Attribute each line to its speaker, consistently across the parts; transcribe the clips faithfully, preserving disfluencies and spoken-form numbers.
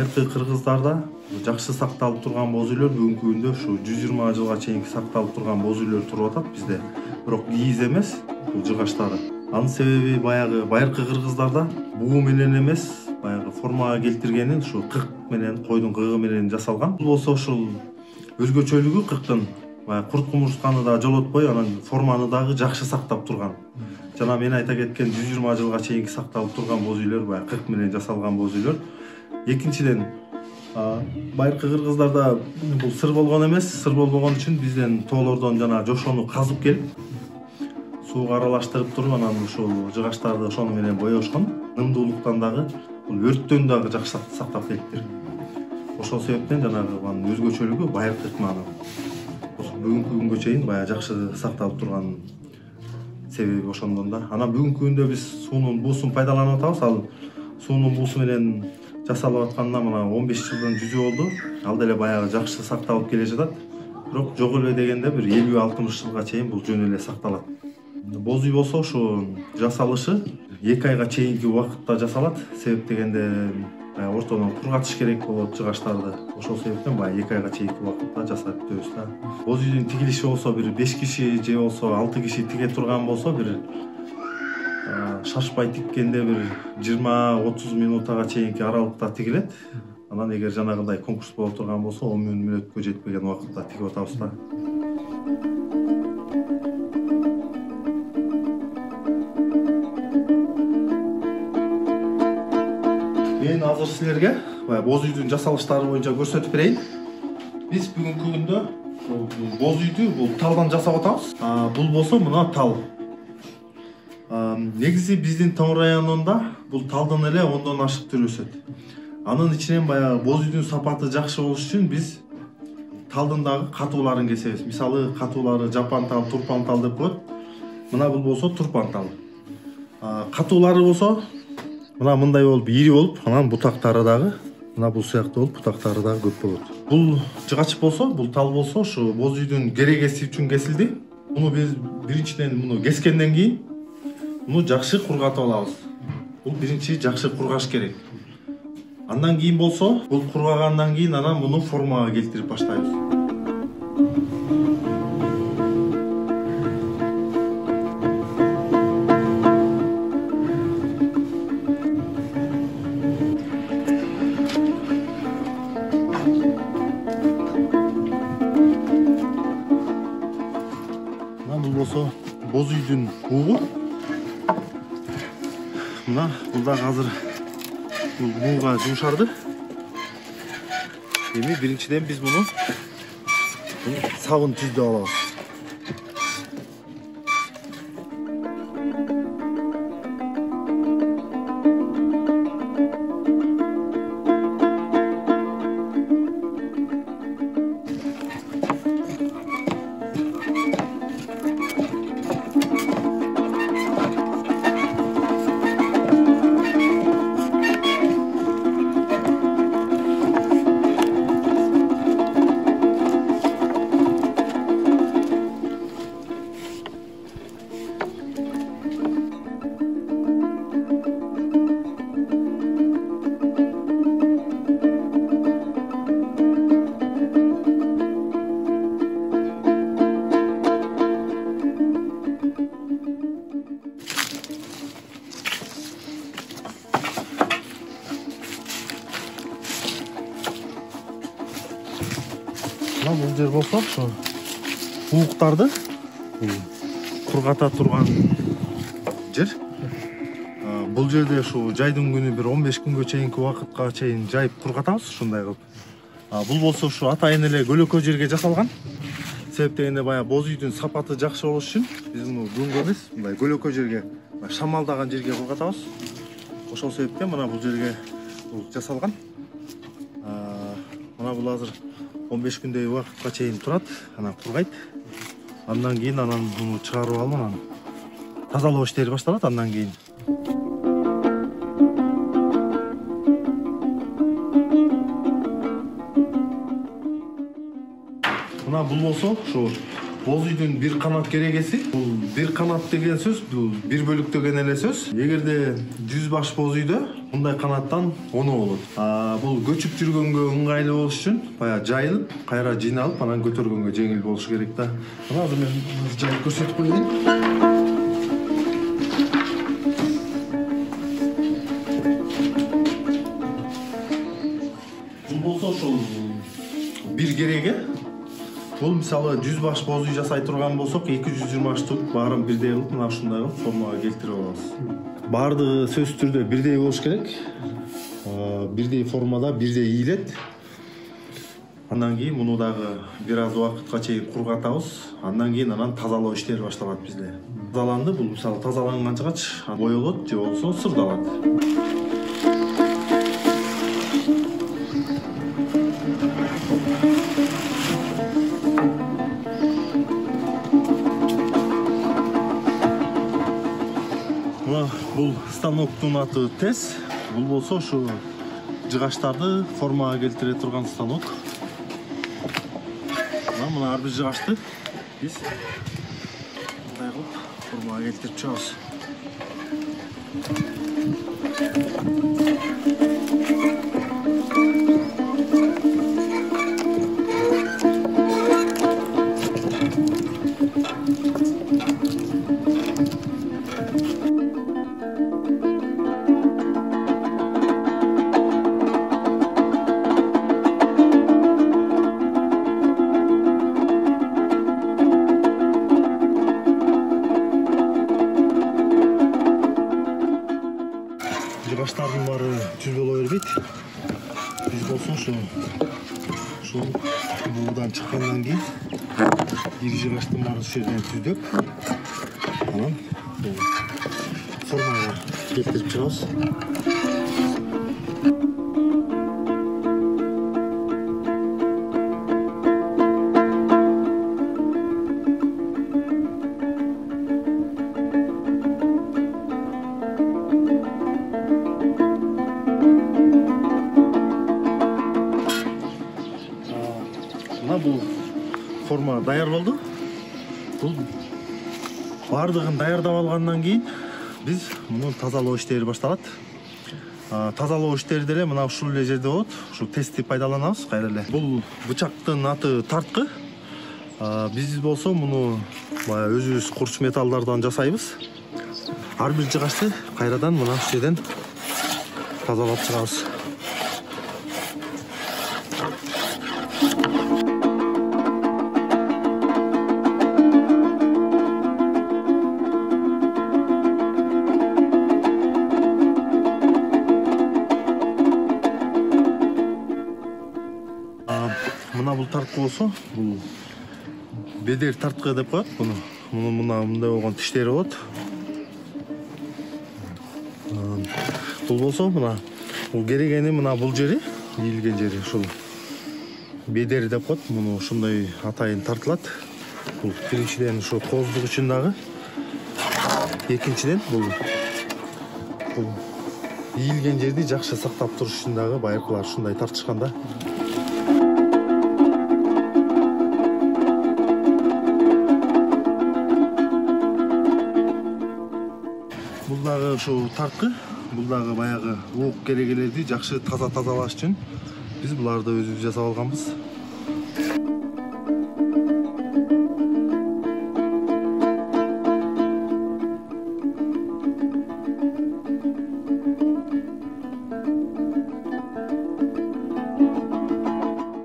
Speaker 1: байыркы кыргыздарда жакшы сакталып турган боз үйлөр бүгүнкү күндө ушу жүз жыйырма жылга чейинки сакталып турган боз үйлөр туруп атат бизде. Бирок кийиз эмес бул жыгачтары. Анын себеби баягы байыркы кыргыздарда буу менен эмес, баягы формага келтиргени ушу кырк менен, койдун кыгы менен жасалган. Бул болсо ушул өзгөчөлүгү кырктын баягы курт кумурсканы да жолотпой, анан форманы дагы жакшы сактап турган. Жана мен айта кеткен жүз жыйырма жылга чейинки сакталып турган боз үйлөр баягы кырк менен жасалган боз үйлөр. Экинчиден, байыркы кыргыздарда бул сыр болгон эмес, сыр болбогон үчүн бизден тоолордон жана жошону казып келип, сууга аралаштырып туруп, анан ушул жыгачтарды ошону менен боёшкон. Нымдуулуктан дагы, бул өрттөн дагы жакшы сактап келиптир. Ошол себептен жанагы анын өзгөчөлүгү байыркы кыркманы. Бүгүнкү күнгө чейин баягы жакшы сакталып турган себеби ошондон да. Анан бүгүнкү күндө биз суунун буусун пайдаланып атабыз. Ал суунун буусу менен жасалып атканына мына он беш жылдын жүзү болду. Ал деле баягы жакшы сакталып келе жатат. Бирок жок эле дегенде бир элүү алтымыш жылга чейин бул жөн эле сакталат. Боз үй болсо ушу жасалышы эки айга чейинки убакытта жасалат. Себеп дегенде ортодон кургатыш керек болот жыгачтарды. Ошол себептен баягы эки айга чейинки убакытта жасап бүтөбүз да. Боз үйдүн тигилиши болсо бир беш киши же болсо алты киши тиге турган болсо, бир шашпай тиккенде бир жыйырма отуз минутага чейинки аралыкта тигилет. Анан эгер жанагындай конкурс боло турган болсо он мүнөткө жетпеген убакытта тигип атабыз да. Мен азыр силерге боз үйдүн жасалыштары боюнча көрсөтүп берейин. Биз бүгүнкү күндө боз үйдү бул талдан жасап атабыз. Бул болсо мына тал. Негизи биздин Тоң районунда бул талдын эле ондон ашык түрү өсөт. Анын ичинен баягы боз үйдүн сапаты жакшы болуш үчүн биз талдын дагы катууларын кесебиз. Мисалы катуулары жапан тал, турпан тал деп коет. Мына бул болсо турпан тал. Катуулары болсо мына мындай болуп ири болуп, анан бутактары дагы мына бул сыяктуу болуп, бутактары дагы көп болот. Бул жыгач болсо, бул тал болсо, ушу боз үйдүн керегеси үчүн кесилди. Муну биз биринчиден муну кескенден кийин муну жакшы кургатып алабыз. Бул биринчи жакшы кургаш керек. Андан кийин болсо, бул кургагандан кийин анан муну формага келтирип баштайбыз. Бул болсо боз үйдүн бугу. Мына бул да азыр бул буга жумшарды. Эми биринчиден биз муну сабын түздүп алабыз. Бул жер болсо, ошо бууктарды кургата турган жер. Бул жерде ушу жайдын күнү бир он беш күнгө чейинки убакытка чейин жайып кургатабыз ушундай кылып. Бул болсо ушу атайын эле көлөкө жерге жасалган. Себеп дегенде баягы боз үйдүн сапаты жакшы болуш үчүн биз муну күнгө эмес, мындай көлөкө жерге, шамалдаган жерге кургатабыз. Ошол себептен мына бул жерге бул жасалган. Мына бул азыр он беш күндөй убакытка чейин турат, анан кургайт. Андан кийин анан муну чыгарып алып, анан тазалоо иштери башталат андан кийин. Мына бул болсо, ушу боз үйдүн бир канат керегеси. Бул бир канат деген сөз, бул бир бөлүк деген эле сөз. Эгерде жүз баш боз үйдө Мындай канаттан оно болот. Бул көчүп жүргөнгө ыңгайлуу болуш үчүн баягы жайылып, кайра жыйналып, анан көтөргөнгө жеңил болуш керек да. Мына азыр мен жайып көрсөтүп коеюн. Бул болсо ошол бир кереге. Бул мисалы жүз баш боз үй жасай турган болсок, эки жүз жыйырма штук баарын бирдей кылып, мына ушундай кылып формага келтирип алабыз. Бардыгы сөзсүз түрдө бирдей болуш керек. Бирдей формада, бирдей ийилет. Андан кийин муну дагы бир аз убакытка чейин кургатабыз. Андан кийин анан тазалоо иштери башталат бизде. Тазаланды, бул мисалы тазаланганчагач боелот же болбосо сырдалат. Бул станоктун аты тез. Бул болсо ушу жыгачтарды формага келтире турган станок. Мына ар бир жыгачты биз мындай кылып формага келтирип чыгабыз. Жыгачтардын баары түз боло бербейт. Биз болсо ошо ушул буудан чыккандан кийин бир жыгачтын баарын ушул жерден түздөп, анан формага келтирип чыгабыз. Бул форма даяр болду. Бул бардыгын даярдап алгандан кийин биз муну тазалоо иштери башталат. Тазалоо иштери деле мына ушул эле жерде болот. Ушу тестти пайдаланабыз кайра эле. Бул бычактын аты тарткы. Биз болсо муну баягы өзүбүз курч металлдардан жасайбыз. Ар бир жыгачты кайрадан мына ушул жерден тазалап чыгабыз. Мына бул тарткы болсо, бул бедер тарткы деп коет буну. Муну мына мындай болгон тиштери болот. Бул болсо мына бул керегени мына бул жери, ийилген жери ушул бедер деп коет. Муну ушундай атайын тартылат. Бул биринчиден ушу кооздук үчүн дагы, экинчиден бул бул ийилген жерди жакшы сактап туруш үчүн дагы байыркылар ушундай тартышкан да. Бул дагы ушул тарткы, бул дагы баягы уук керегелерди жакшы таза тазалаш үчүн биз буларды өзүбүз жасап алганбыз.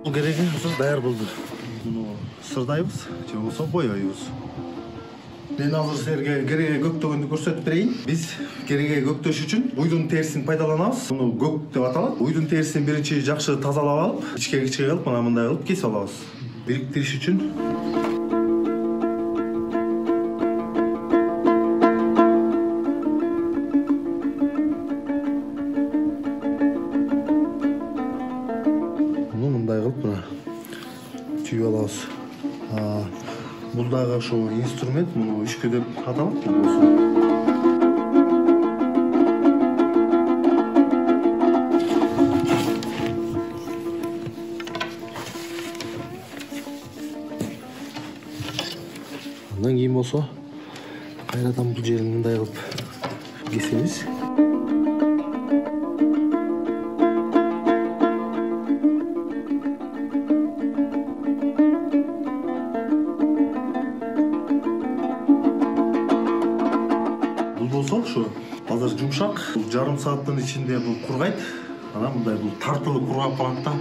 Speaker 1: Бул кереге азыр даяр болду. Муну сырдайбыз же болбосо боёйбуз. Мен азыр силерге кереге көктөгөндү көрсөтүп берейин. Биз кереге көктөш үчүн уйдун терисин пайдаланабыз. Муну көк деп аталат. Уйдун терисин биринчи жакшы тазалап алып, ичке-ичке кылып, мына мындай кылып кесип алабыз. Бириктириш үчүн. Муну мындай кылып мына түйүп алабыз. Бул дагы ошол инструмент, муну үшкү деп аталат. Андан кийин болсо кайрадан бул жерин мындай кылып кесебиз. жарым сааттын ичинде бул кургайт. Анан мындай бул тартылып кургап калат да.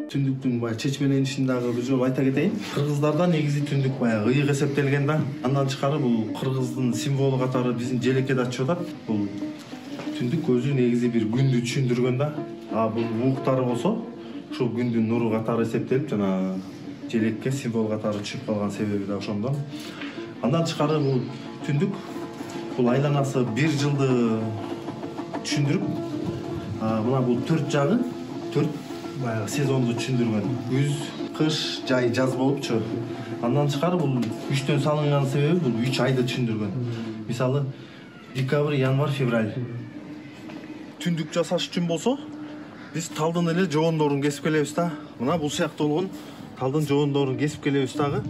Speaker 1: Түндүктүн баягы чечмеленишин дагы бир жолу айта кетейин. Кыргыздарда негизи түндүк баягы ыйык эсептелген да. Андан тышкары бул кыргыздын символу катары биздин желекке да чыгып атат. Бул түндүк өзү негизи бир күндү түшүндүргөн да. А бул ууктары болсо ушул күндүн нуру катары эсептелип жана желекке символ катары түшүп калган себеби да ошондон. Андан тышкары бул түндүк бул айланасы бир жылды түшүндүрүп, мына бул төрт жагы төрт баягы сезонду түшүндүргөн. Күз, кыш, жай, жаз болуп чыгат. Андан тышкары бул үчтөн салынган себеби бул үч айды түшүндүргөн. Мисалы, декабрь, январь, февраль. Түндүк жасаш үчүн болсо, биз талдын эле жогондорун кесип келебиз да. Мына бул сыяктуу болгон талдын жогондорун кесип келебиз дагы.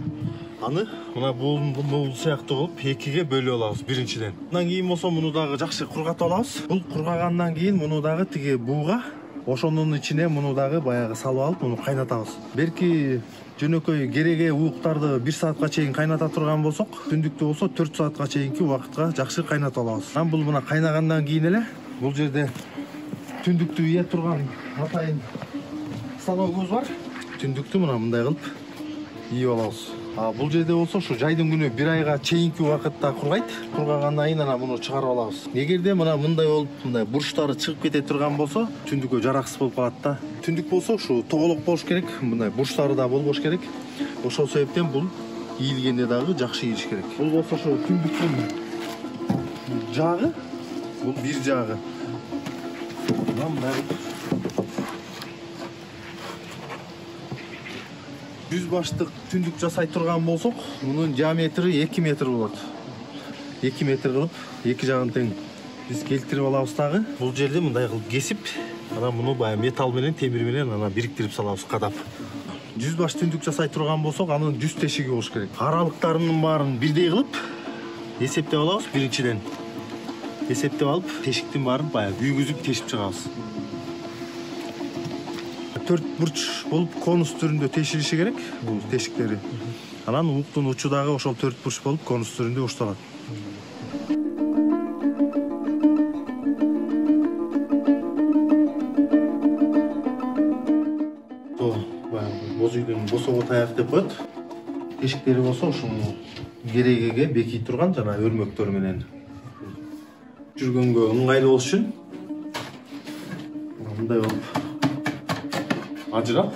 Speaker 1: Аны мына бул бул сыяктуу кылып экиге бөлүп алабыз биринчиден. Андан кийин болсо муну дагы жакшы кургатып алабыз. Бул кургагандан кийин муну дагы тиги бууга ошонун ичине муну дагы баягы салып алып, муну кайнатабыз. Берки жөнөкөй кереге ууктарды бир саатка чейин кайната турган болсок, түндүктө болсо төрт саатка чейинки убакытка жакшы кайнатып алабыз. Анан бул мына кайнагандан кийин эле бул жерде түндүктү ийе турган атайын станогубуз бар. Түндүктү мына мындай кылып ийип алабыз. А бул жерде болсо ушу жайдын күнү бир айга чейинки убакытта кургайт. Кургагандан кийин анан муну чыгарып алабыз. Эгерде мына мындай болуп, мындай бурчтары чыгып кете турган болсо, түндүккө жараксыз болуп калат да. Түндүк болсо ушу тоголок болуш керек, мындай бурчтары да болбош керек. Ошол себептен бул ийилгенде дагы жакшы ийилиш керек. Бул болсо ушу түндүктүн жагы, бул бир жагы. Мындай жүз баштык түндүк жасай турган болсок, мунун диаметри эки метр болот. эки метр кылып, эки жагын тең биз келтирип алабыз дагы. Бул жерде мындай кылып кесип, анан муну баягы металл менен, темир менен анан бириктирип салабыз, кадап. жүз баш түндүк жасай турган болсок, анын жүз тешиги болуш керек. Аралыктарынын баарын бирдей кылып эсептеп алабыз биринчиден. Эсептеп алып, тешиктин баарын баягы күйгүзүп тешип чыгабыз. төрт бурч болуп конус түрүндө тешилиши керек бул тешиктери. Анан ууктун учу дагы ошол төрт бурч болуп конус түрүндө ушталат. Боз үйдүн босого таяк деп коет. Тешиктери болсо ушуну керегеге бекий турган жана өрмөктөр менен жүргөнгө ыңгайлуу болуш үчүн мындай болуп ажырап